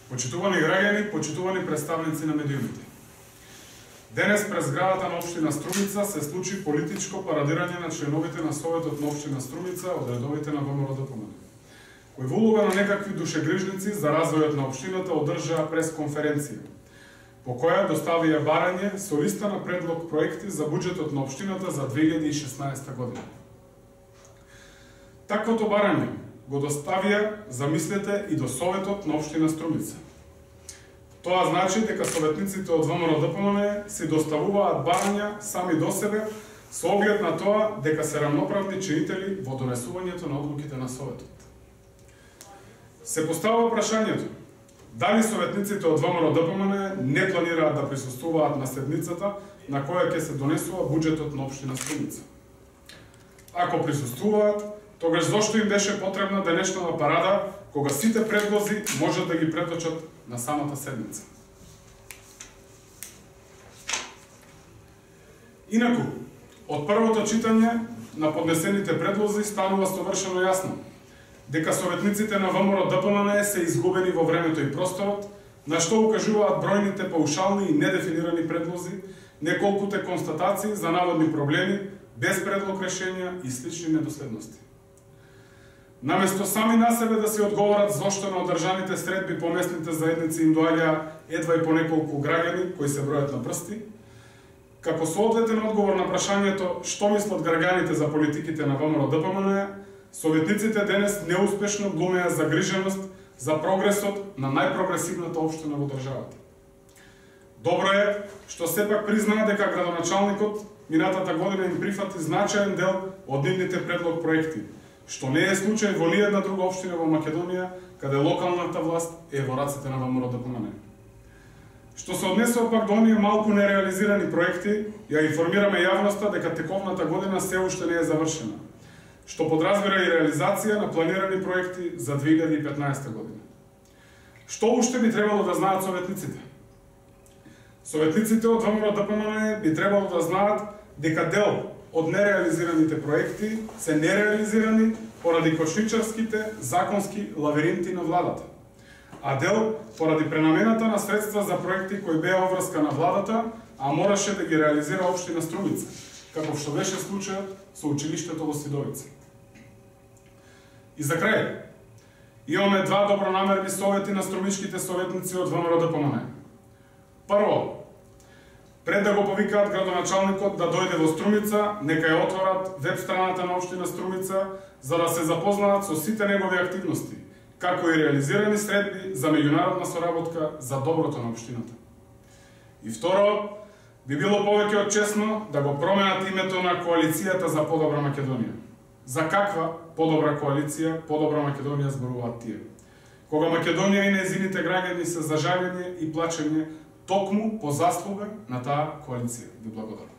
Почитувани граѓани, почитувани представници на медиумите. Денес през зградата на општина Струмица се случи политичко парадирање на членовите на Советот на општина Струмица од редовите на ВМРО-ДПМНЕ, кој во улога на некакви душегрижници за развојот на општината одржаа пресконференција, по која доставија барање со листа на предлог проекти за буџетот на општината за 2016 година. Таквото барање го доставија, замислете, и до Советот на општина Струмица. Тоа значи дека советниците од ВМРО-ДПМНЕ си доставуваат барања сами до себе со оглед на тоа дека се рамноправни чинители во донесувањето на одлуките на Советот. Се поставува прашањето дали советниците од ВМРО-ДПМНЕ не планираат да присуствуваат на седницата на која ќе се донесува буџетот на општина Струмица. Ако присуствуваат, тогаш зошто им беше потребна денешната парада, кога сите предлози можат да ги преточат на самата седница? Инаку, од првото читање на поднесените предлози станува совршено јасно дека советниците на ВМРО-ДПМНЕ се изгубени во времето и просторот, на што укажуваат бројните паушални и недефинирани предлози, неколкуте констатации за наводни проблеми, без предлог решенја и слични недоследности. Наместо сами на себе да се одговорат зошто на одржаните средби по местните заедници им доаѓа едва и по неколку граѓани кои се бројат на прсти, како соодветен одговор на прашањето што мислат граѓаните за политиките на ВМРО-ДПМНЕ, советниците денес неуспешно глумеа загриженост за прогресот на најпрогресивната општина во државата. Добро е што сепак признаа дека градоначалникот минатата година им прифати значаен дел од нивните предлог проекти, што не е случај во ниедна друга општина во Македонија, каде локалната власт е во рацете на ВМРО-ДПМНЕ. Што се однесува пак до оние малку нереализирани проекти, ја информираме јавноста дека тековната година се уште не е завршена, што подразбира и реализација на планирани проекти за 2015 година. Што уште би требало да знаат советниците? Советниците од ВМРО-ДПМНЕ би требало да знаат дека дел од нереализираните проекти се нереализирани поради кошничарските законски лавиринти на владата, а дел поради пренамената на средства за проекти кои беа обврска на владата, а мораше да ги реализира општина Струмица, како што беше случајот со училиштето во Сидовица. И за крај, имаме два добронамерни совети на струмичките советници од ВМРО-ДПМНЕ. Прво, пред да го повикаат градоначалникот да дојде во Струмица, нека ја отворат веб страната на општина Струмица за да се запознаат со сите негови активности, како и реализирани средби за меѓународна соработка за доброто на општината. И второ, би било повеќе од честно да го променат името на коалицијата за подобра Македонија. За каква подобра коалиција, подобра Македонија зборуваат тие? Кога Македонија и нејзините граѓани се за жалење и плачење токму по заслуга на таа коалиција. Ви благодарам.